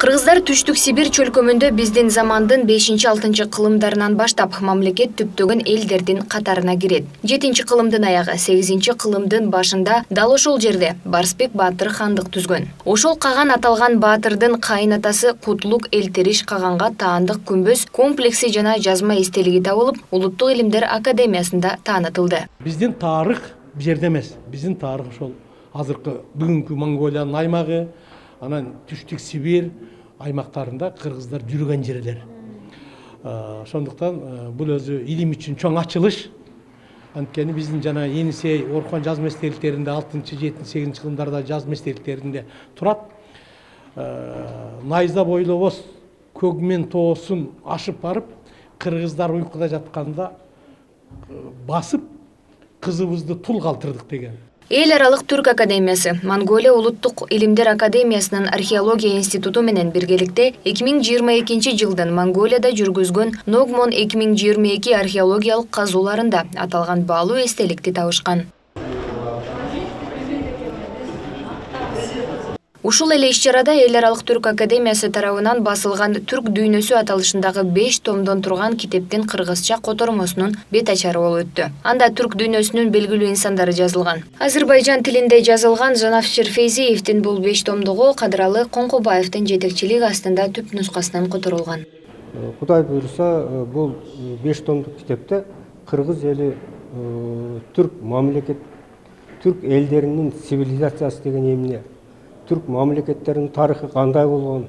Кыргыздар Түштүк Сибир чөлкөмүндө биздин замандын 5-6 кылымдарынан баштап мамлекет түптөгөн элдердин катарына кирет. 7 кылымдын аягы, 8 кылымдын башында дал ошол жерде Барсбек Баатыр хандык түзгөн. Ошол каган аталган баатырдын кайынатасы Кутлук Элтериш каганга таандык күмбөз комплекси жана жазма эстелиги табылып, Улуттук илимдер академиясында таанытылды. Биздин тарых бу жерде эмес. Биздин тарых ошол азыркы бүгүнкү Монголиянын аймагы, анан Түштүк Сибир аймактарында кыргыздар жүргөн жерлер. Ошондуктан бул өзү илим үчүн чоң ачылыш. Анткени биздин жана Енисей Орхон жазма эстеликтеринде 6-7-8 кылымдарда жазма эстеликтеринде турат. Найза бойлобос Көгмен тоосун ашып барып, кыргыздар уйкуда жатканда басып кызыбызды тул калтырдык деген. Эл аралык түрк академиясы Монголия Улуттук илимдер академиясынын археология институту менен биргеликте 2022 жылдын Монголияда жүргүзгөн Ногмон 2022 археологиялык казууларында аталган баалуу эстеликти табышкан. Ушул эле иш-чарада Эл аралык түрк академиясы тарабынан басылган Түрк дүйнөсү аталышындагы 5 томдон турган китептин кыргызча котормосунун бет ачары болуп өттү. Анда түрк дүйнөсүнүн белгилүү инсандары жазылган. Азербайжан тилинде жазылган Жанавшир Фейзиевдин бул 5 томдугу Кадыралы Коңкубаевдин жетекчилиги астында түп нускасынан которулган. Кудай буйруса, бул 5 томдук китепте кыргыз эли түрк мамлекет, түрк элдеринин цивилизациясы деген эмне, түрк мамлекеттеринин тарыхы кандай болгон,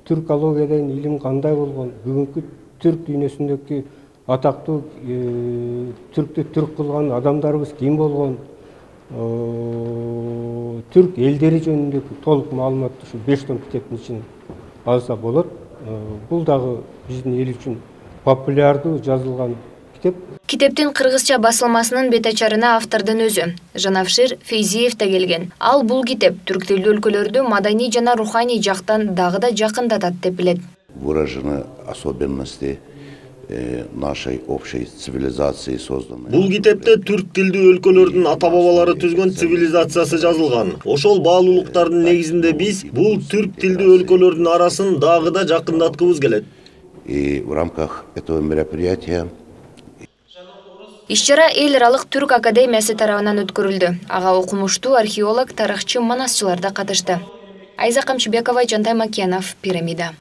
түркология деген илим кандай болгон, бүгүнкү түрк дүйнөсүндөгү атактуу түрктү түрк кылган адамдарыбыз ким болгон, түрк элдери жөнүндөгү толук маалыматты ушу 5 том китептин ичинен алса болот. Бул дагы биздин эл үчүн популярдуу жазылган китеп. Китептин кыргызча басылмасынын бет ачарына автордун өзү Жанавшир Фейзиев да келген. Ал бул китеп түрк тилдүү өлкөлөрдү маданий жана руханий жактан дагы да жакындатат деп билет. Выражены особенности нашей общей цивилизации созданы. Бул китепте түрк тилдүү өлкөлөрдүн ата-бабалары түзгөн цивилизациясы жазылган. Ошол баалуулуктардын негизинде биз бул түрк тилдүү өлкөлөрдүн арасын дагы да жакындаткыбыз келет. И в рамках этого мероприятия Иш-чара Эл аралык түрк академиясы тарабынан өткөрүлдү. Ага окумуштуу археолог, тарыхчы, манасчылар да катышты. Айза Камчыбекова, Жантай Макенов, Пирамида.